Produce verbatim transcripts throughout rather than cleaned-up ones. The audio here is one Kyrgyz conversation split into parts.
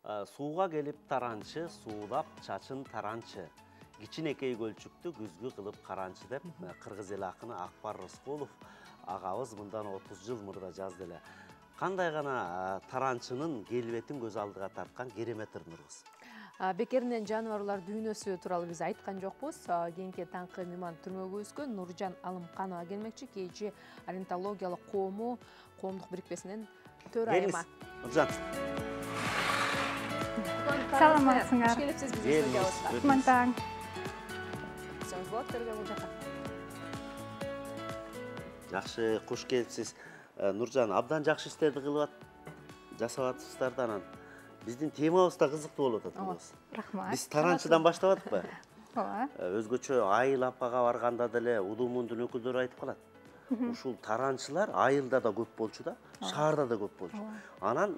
Сууга келип таранчы, суулап чачын таранчы. Кичинекей көлчүктү күзгү кылып каранчы деп кыргыз эл акыны Акбар Рыскулов агабыз мындан отуз жыл мурда жазды эле. Кандай гана таранчынын келбетин көз алдыга тарткан керемет ырнырыбыз. Бекеринен жаныбарлар дүйнөсү тууралуу биз айткан жокпуз. Кийинки таңкы мейман түрмөгүбүзгө Нуржан Алымканова келмекчи, кийинчи орнитологиялык коому коомдук бирикмесинин төрайымы. Нуржан. Саламатсыңар. Хош келипсиз биздин студиябызга. Кутман таң. Сөз болот берген бул жака. Жакшы, кош келипсиз. Нуржан, абдан жакшы иштерди кылып жасап атыпсыздар да анан. Биздин темабыз да кызыктуу болуп атат. Рахмат. Биз таранчыдан баштап атпы? Ооба. Өзгөчө Айыл апага барганда деле удумундун өкүлдөрү айтып калат. Ушул таранчылар айылда да көп болчу да, шаарда да көп болчу. Анан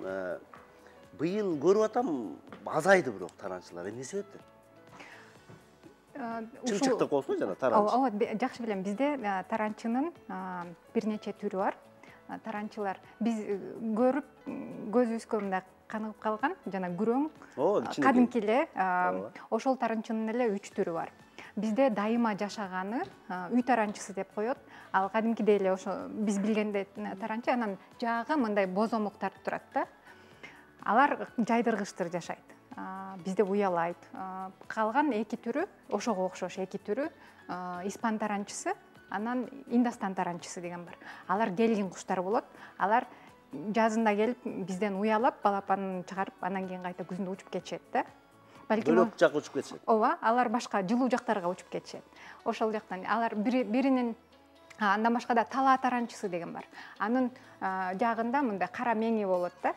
быйыл көрүп атам, азайды бирок таранчылар. Эмне себептен? Чымчыктык болсун жана таранчы. Ооба, жакшы билем. Бизде таранчынын бир нече түрү бар. Таранчылар биз көрүп көзүбүзгө мындай каныгып калган жана күрөң, кадимки эле ошол таранчынын эле үч түрү бар. Бизде дайыма жашаганы үй таранчысы деп коет. Ал кадимкидей эле ошо биз билгендей таранчы, анан жаагы мындай бозомук тартып турат да. Алар жайдыргычтыр жашайт. Бизде уялайт. Калган эки түрү, ошого окшош эки түрү, испан таранчысы, анан индастан таранчысы деген бар. Алар келгин куштар болот. Алар жазында келип бизден уялап, балапанын чыгарып, анан кийин кайта күзүндө учуп кетишет да. Балким бөлөк жакка учуп кетишет. Ооба, алар башка жылуу жактарга учуп кетишет. Ошол жактан алар биринин андан башка да талаа таранчысы деген бар. Анын жаагында мындай кара меңи болот да.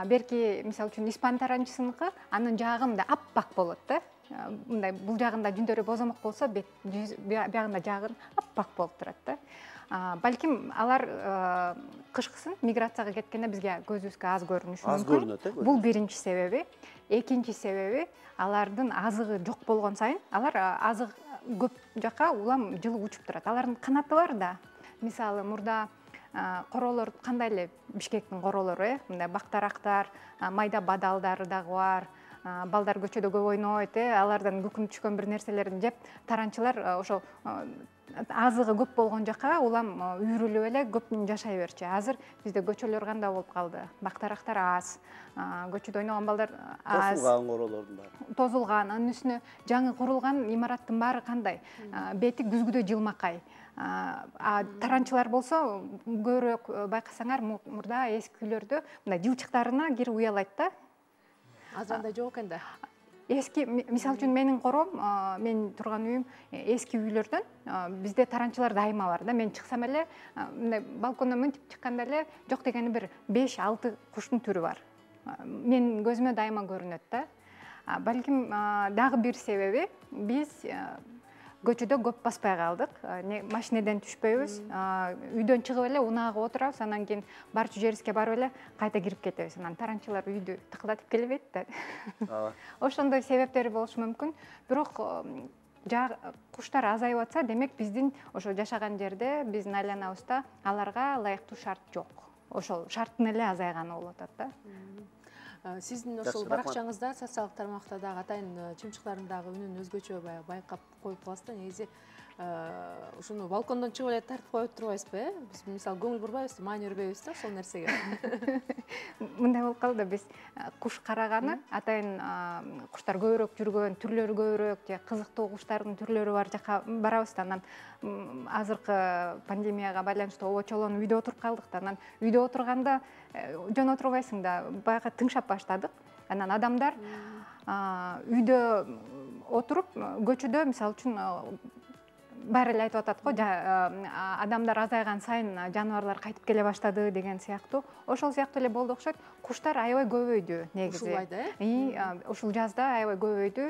Берки, мисалы үчүн, испан таранчысыныкы анын жаагы мындай аппак болот да. Мындай бул жагында жүндөрү бозомок болсо, бягында жаагы аппак болуп турат да. Балким алар кышкысын миграцияга кеткенде бизге көзүбүзгө аз көрүнүшү мүмкүн. Аз көрүнөт, э? Бул биринчи себеби. Экинчи себеби, алардын азыгы жок болгон сайын, алар азык көп жака улам жылы учуп турат. Алардын канаты бар да. Мисалы, мурда королор кандай эле Бишкектин королору, э? Мындай бактарактар, майда бадалдары дагы бар. Балдар көчөдө көп ойнойт, э? Алардан күкүм түшкөн бир нерселерин жеп, таранчылар ошол азыгы көп болгон жака улам үйрүлүп эле көп жашай берчү. Азыр бизде көчөлөр кандай болуп калды? Бактарактар аз, көчөдө ойногон балдар аз. Тозулган королордун баары. Тозулган, анын үстүнө жаңы курулган имараттын баары кандай? Бети күзгүдө жылмакай. Таранчылар болсо көбүрөөк байкасаңар, мурда эски үйлөрдө мындай жылчыктарына кирип уялайт да. Азыр андай жок экен да. Эски, мисалы үчүн, менин кором, мен турган үйүм эски үйлөрдөн, бизде таранчылар дайыма бар да. Мен чыксам эле, мындай балкондон мынтип чыкканда эле жок дегени бир беш алты куштун түрү бар. Мен көзүмө дайыма көрүнөт да. Балким дагы бир себеби, биз көчөдө көп баспай калдык. Машинеден түшпөйбүз. Үйдөн чыгып эле унаага отурабыз, анан кийин барчу жерибизге барып эле кайта кирип кетебиз. Анан таранчылар үйдү тыкылдатып келбейт да. Ошондой себептери болушу мүмкүн. Бирок куштар азайып атса, демек биздин ошо жашаган жерде, биздин айланабызда аларга ылайыктуу шарт жок. Ошол шарттын эле азайганы болуп атат да. Сиздин ошол баракчаңызда, социалдык тармакта дагы атайын чымчыктардын дагы үнүн өзгөчө байкап коюп каласыз да. Негизи ушуну балкондон чыгып эле тартып коюп турбайсызбы, э? Биз мисалы көңүл бурбайбыз, маани бербейбиз да ошол нерсеге. Мындай болуп калды, биз куш караганы, атайын куштар көбүрөөк жүргөн, түрлөрү көбүрөөк, же кызыктуу куштардын түрлөрү бар жака барабыз да. Анан азыркы пандемияга байланыштуу обочолон үйдө отуруп калдык да. Анан үйдө отурганда жөн отурбайсың да, баягы тыңшап баштадык. Анан адамдар үйдө отуруп, көчөдө, мисалы үчүн, баары эле айтып атат го, адамдар азайган сайын жаныбарлар кайтып келе баштады деген сыяктуу. Ошол сыяктуу эле болду окшойт. Куштар аябай көбөйдү негизи. Ушул айда, э? Ушул жазда аябай көбөйдү.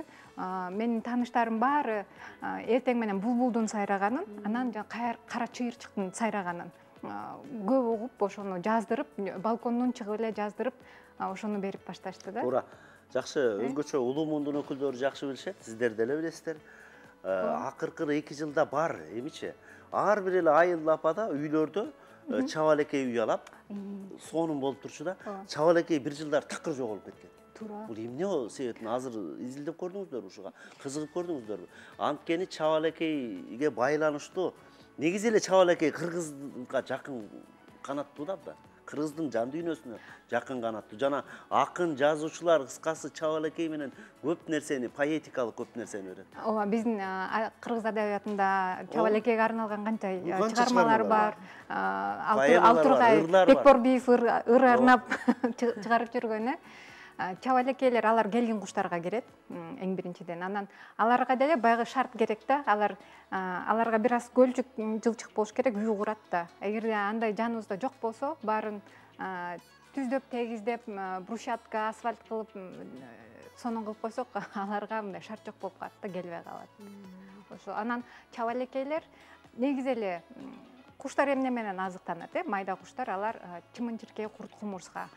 Менин тааныштарым баары эртең менен булбулдун сайраганын, анан кара чыйырчыктын сайраганын көп угуп, ошону жаздырып, балкондон чыгып эле жаздырып, ошону берип башташты да. Туура. Жакшы, өзгөчө улуу-мундун өкүлдөрү жакшы билишет, сиздер деле билесиздер. Акыркы эки жылда бар, эмичи? Ар бир эле айыл апада үйлөрдө чабалекей уялап сонун болуп турчу да. Чабалекей бир жылдар такыр жоголуп кеткен. Туура. Бул эмне себептен азыр изилдеп көрдүңүздөрбү ушуга? Кызыгып көрдүңүздөрбү? Анткени чабалекейге байланыштуу негизи эле чабалекей кыргызга жакын канаттуу да. Кыргыздын жан дүйнөсүнө жакын канаттуу. Жана акын жазуучулар кыскасы чабалекей менен көп нерсени, поэтикалык көп нерсени берет. Ооба, биздин кыргыз адабиятында чабалекейге арналган канча чыгармалар бар. Алтургай Бекборбиев ыр арнап чыгарып жүргөн. Чабалекейлер алар келгин куштарга кирет, эң биринчиден. Анан аларга деле байгы шарт керек да. Алар аларга бир аз көлчүк, жылчык болуш керек, үй курат да. Эгерде андай жаныбызда жок болсо, баарын түздөп, тегиздеп, брусчатка, асфальт кылып, сонун кылып койсок, аларга мындай шарт жок болуп калат да, келбей калат. Ошо анан чабалекейлер негизи эле куштар эмне менен азыктанат, э? Майда куштар, алар чымын-чиркей, курт-кумурска.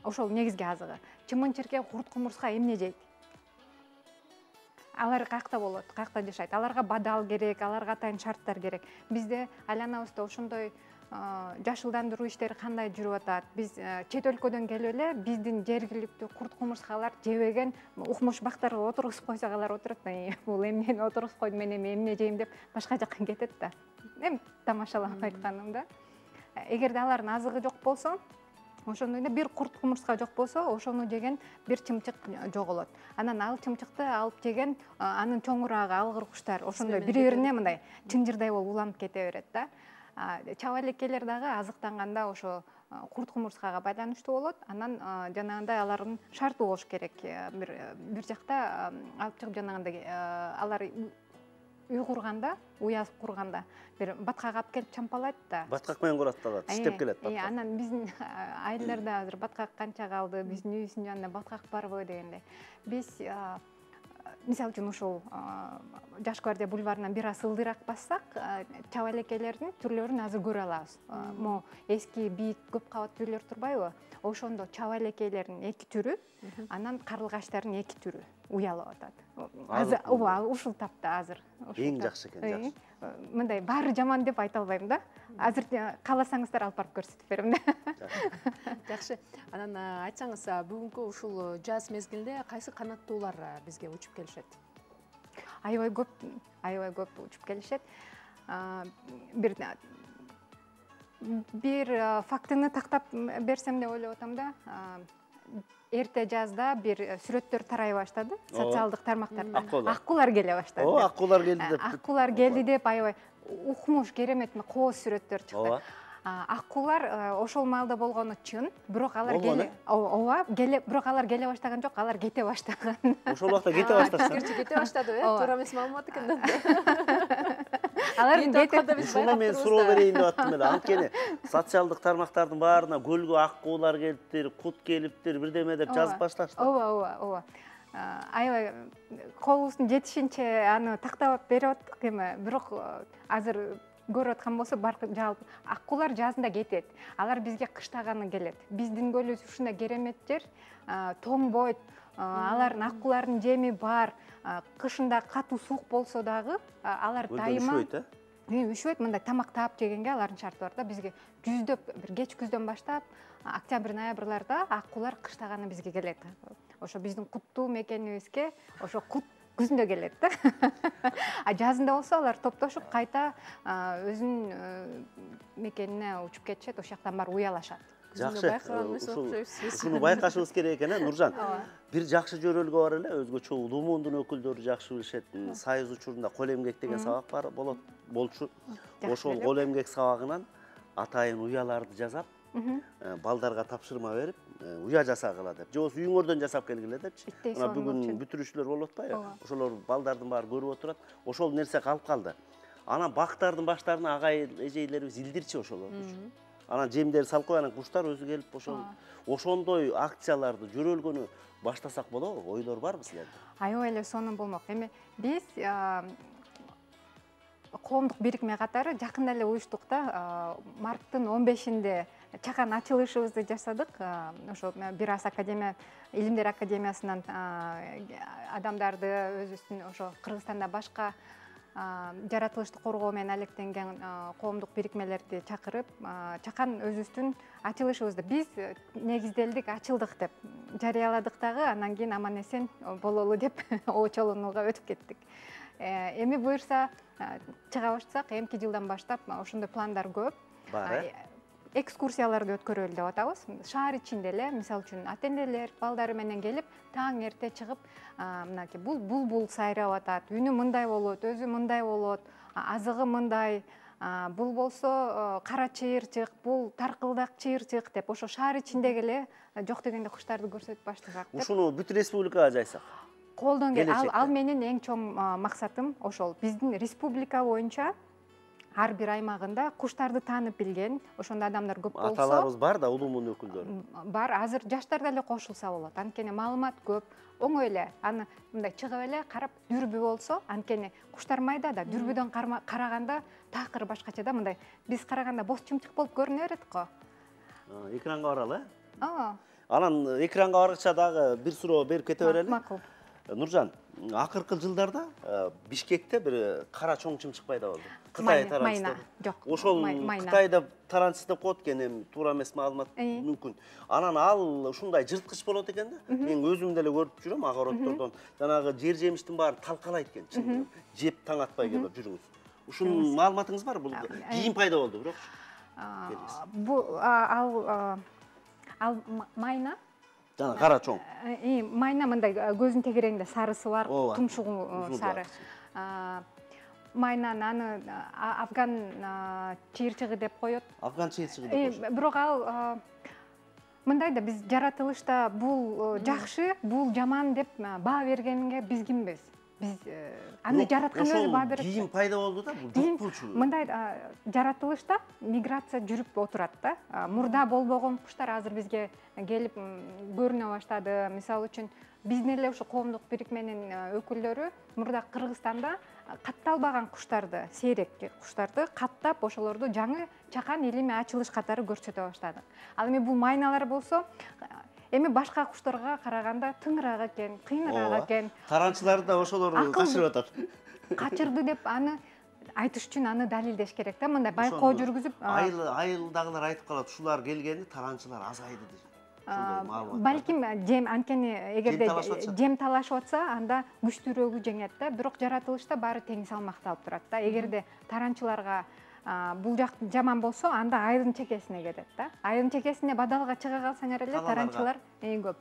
Ошол негизги азыгы. Чымын-чиркей, курт-кумурска эмне жейт? Алар каякта болот, каякта жашайт. Аларга бадал керек, аларга атайын шарттар керек. Бизде айланабызда ошондой жашылдандыруу иштери кандай жүрүп атат? Биз чет өлкөдөн келип эле биздин жергиликтүү курт-кумурскалар жебеген укмуш бактарга отургузуп койсок, алар отурат да, бул эмнени отургузуп койду, мен эми эмне жейм деп башка жакка кетет да. Эми тамашалап айтканым да. Эгерде алардын азыгы жок болсо, ошондой эле бир курт-кумурска жок болсо, ошону жеген бир чымчык жоголот. Анан ал чымчыкты алып жеген анын чоңурагы, алгыр куштар ошондой бири-бирине мындай чынжырдай болуп уланып кете берет да. Чабалекейлер дагы азыктанганда ошо курт-кумурскага байланыштуу болот. Анан жанагындай алардын шарты болуш керек. Бир бир жакта алып чыгып жанагындай алар үй курганда, уя курганда бир баткак алып келип чампалайт да. Баткак менен курат да, тиштеп келет баткак. Анан биздин айылдарда азыр баткак канча калды, биздин үйүбүздүн жанында баткак барбы дегендей. Биз мисалы үчүн ушул Жаш гвардия бульварынан бир аз ылдыйраак бассак, чабалекейлердин түрлөрүн азыр көрө алабыз. Мо эски бийик көп кабаттуу үйлөр турбайбы? Ошондо чабалекейлердин эки түрү, анан карлыгачтардын эки түрү уялып атат. Азыр ооба, ушул тапта азыр. Эң жакшы экен, жакшы. Мындай баары жаман деп айта албайм да. Азыр кааласаңыздар алып барып көрсөтүп берем да. Жакшы. Анан айтсаңыз, бүгүнкү ушул жаз мезгилинде кайсы канаттуулар бизге учуп келишет? Аябай көп, аябай көп учуп келишет. Бир бир фактыны тактап берсем деп ойлоп атам да. Эрте жазда бир сүрөттөр тарай баштады социалдык тармактарда. Аккуулар келе баштады. О, аккуулар келди деп. Аккуулар келди деп аябай укмуш, керемет кооз сүрөттөр чыкты. Аккуулар ошол маалда болгону чын, бирок алар келе ооба, келе, бирок алар келе баштаган жок, алар кете баштаган. Ошол убакта кете башташты. Кирчи кете баштады, э? Туура эмес маалымат экен да. Алар кете. Ушуна мен суроо берейин деп аттым эле. Анткени социалдык тармактардын баарына көлгө аккуулар келиптир, кут келиптир, бирдеме деп жазып башташты. Ооба, ооба, ооба. Аябай колубуздун жетишинче аны тактап берип аттык эми, бирок азыр көрүп аткан болсо жалпы аккуулар жазында кетет. Алар бизге кыштаганы келет. Биздин көлүбүз ушундай керемет жер, тоңбойт. Алардын аккуулардын жеми бар. Кышында катуу суук болсо дагы алар дайыма үшөйт, мындай тамак таап жегенге алардын шарты бар да. Бизге жүздөп бир кеч күздөн баштап октябрь ноябрларда аккуулар кыштаганы бизге келет. Ошо биздин куттуу мекенибизге ошо кут күзүндө келет да. А жазында болсо алар топтошуп кайта өзүнүн мекенине учуп кетишет, ошол жактан барып уялашат. Жакшы. Ушуну байкашыбыз керек экен, э, Нуржан. Бир жакшы жөрөлгө бар эле, өзгөчө улуу муундун өкүлдөрү жакшы билишет. Сайыз учурунда кол эмгек деген сабак бар болот, болчу. Ошол кол эмгек сабагынан атайын уяларды жасап, балдарга тапшырма берип, уя жасагыла деп. Же болбосо үйүңөрдөн жасап келгиле депчи. Мына бүгүн бүтүрүүчүлөр болуп атпайбы? Ошолор балдардын баары көрүп отурат. Ошол нерсе калып калды. Анан бактардын баштарына агай эжейлерибиз илдирчи ошолорду. Анан жемдери салып коюп, анан куштар өзү келип ошол ошондой акцияларды жөрөлгөнү баштасак болобу? Ойлор барбы силерде? Аябай эле сонун болмок. Эми биз коомдук бирикме катары жакында эле уюштук да. Марттын он бешинде чакан ачылышыбызды жасадык. Ошо бир аз академия, илимдер академиясынан адамдарды өзүбүздүн ошо Кыргызстанда башка жаратылышты коргоо менен алектенген коомдук бирикмелерди чакырып, чакан өзүбүздүн ачылышыбызды биз негизделдик, ачылдык деп жарыяладык дагы, анан кийин аман эсен бололу деп оочолонууга өтүп кеттик. Эми буюрса чыга баштасак, эмки жылдан баштап ошондой пландар көп. Бар э? Экскурсияларды өткөрөлү деп атабыз. Шаар ичинде эле, мисалы үчүн ата-энелер балдары менен келип, таң эрте чыгып, мынакей бул булбул сайрап атат, үнү мындай болот, өзү мындай болот, азыгы мындай, бул болсо кара чыйырчык, бул таркылдак чыйырчык деп ошо шаар ичиндеги эле жок дегенде куштарды көрсөтүп баштасак деп. Ушуну бүт республикага жайсак. Колдон кел, ал менин эң чоң максатым ошол. Биздин республика боюнча ар бир аймагында куштарды таанып билген, ошондой адамдар көп болсо. Аталарыбыз бар да, улумун өкүлдөрү. Бар, азыр жаштар деле кошулса болот. Анткени маалымат көп, оңой эле. Аны мындай чыгып эле карап дүрбү болсо, анткени куштар майда да, дүрбүдөн караганда такыр башкача да, мындай биз караганда боз чымчык болуп көрүнө берет го. Экранга баралы, э? Ооба. Анан экранга баргыча дагы бир суроо берип кете берели. Макул. Нуржан, акыркы жылдарда Бишкекте бир кара чоң чымчык пайда болду. Кытай таранчысы. Жок. Ошол Кытайда таранчысы деп коет экен, эми туура эмес маалымат мүмкүн. Анан ал ушундай жырткыч болот экен да. Мен өзүм деле көрүп жүрөм огороддордон. Жанагы жер жемиштин баарын талкалайт экен, чын. Жеп таң атпай келип жүрүңүз. Ушунун маалыматыңыз бар? Бул кийин пайда болду, бирок. Бул ал ал майна Жана кара чоң. Майна мындай көзүн тегерегинде сарысы бар, тумшугу сары. Майнаны аны афган чыйырчыгы деп коет. Афган чыйырчыгы деп коет. Бирок ал мындай да, биз жаратылышта бул жакшы, бул жаман деп баа бергенге биз кимбиз? Биз аны жараткан өзү баа берет. Кийин пайда болду да, бул жок болчу. Мындай жаратылышта миграция жүрүп отурат да. Мурда болбогон куштар азыр бизге келип көрүнө баштады. Мисалы үчүн биздин эле ушу коомдук бирикменин өкүлдөрү мурда Кыргызстанда катталбаган куштарды, сейрек куштарды каттап, ошолорду жаңы чакан илимий ачылыш катары көрсөтө баштады. Ал эми бул майналар болсо, эми башка куштарга караганда тыңыраак экен, кыйыныраак экен. Таранчылар да ошолорду качырып атат. Качырды деп аны айтыш үчүн аны далилдеш керек да, мындай байкоо жүргүзүп. Айылдагылар айтып калат, ушулар келгенде таранчылар азайды деп. Балким жем, анткени эгерде жем талашып атса, анда күчтүүрөгү жеңет да, бирок жаратылышта баары тең салмакталып турат да. Эгерде таранчыларга бул жак жаман болсо, анда айылдын чекесине кетет да. Айылдын чекесине бадалга чыга калсаңар эле таранчылар эң көп.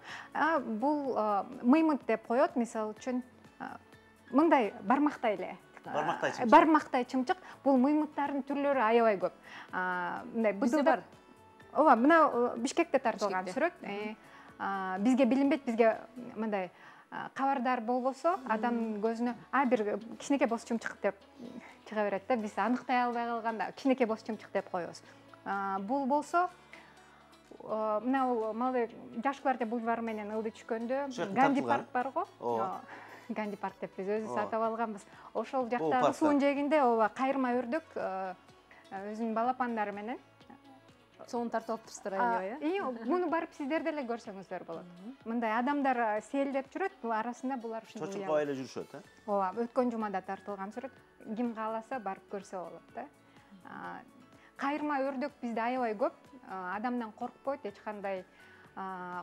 Бул мыймыт деп коет, мисалы үчүн мындай бармактай эле. Бармактай чымчык. Бармактай чымчык, бул мыймыттардын түрлөрү аябай көп. Мындай быдылдап. Ооба, мына Бишкекте тартылган сүрөт. Бизге билинбейт, бизге мындай кабардар болбосо, адамдын көзүнө а бир кичинекей боз чымчык деп чыга берет да. Биз аныктай албай калганда кичинекей боз чымчык деп коебуз. Бул болсо мына малы Жаш гвардия бульвары менен ылдый түшкөндө Ганди парк бар го. Ганди парк деп биз өзүбүз атап алганбыз. Ошол жактагы суун жээгинде ооба кайырма өрдүк өзүнүн балапандары менен соон тартып алып турсуздар аябай, э? Муну барып сиздер деле көрсөңүздөр болот. Мындай адамдар селдеп жүрөт, бул арасында булар ушундай. Чочулкабай эле жүрүшөт, э? Ооба, өткөн жумада тартылган сүрөт. Ким кааласа барып көрсө болот да. Кайырма өрдүк бизде аябай көп. Адамдан коркпойт, эч кандай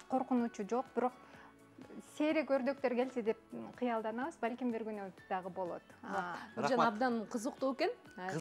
коркунучу жок, бирок сейрек өрдөктөр келсе деп кыялданабыз, балким бир күнү дагы болот. Нуржан абдан кызыктуу экен.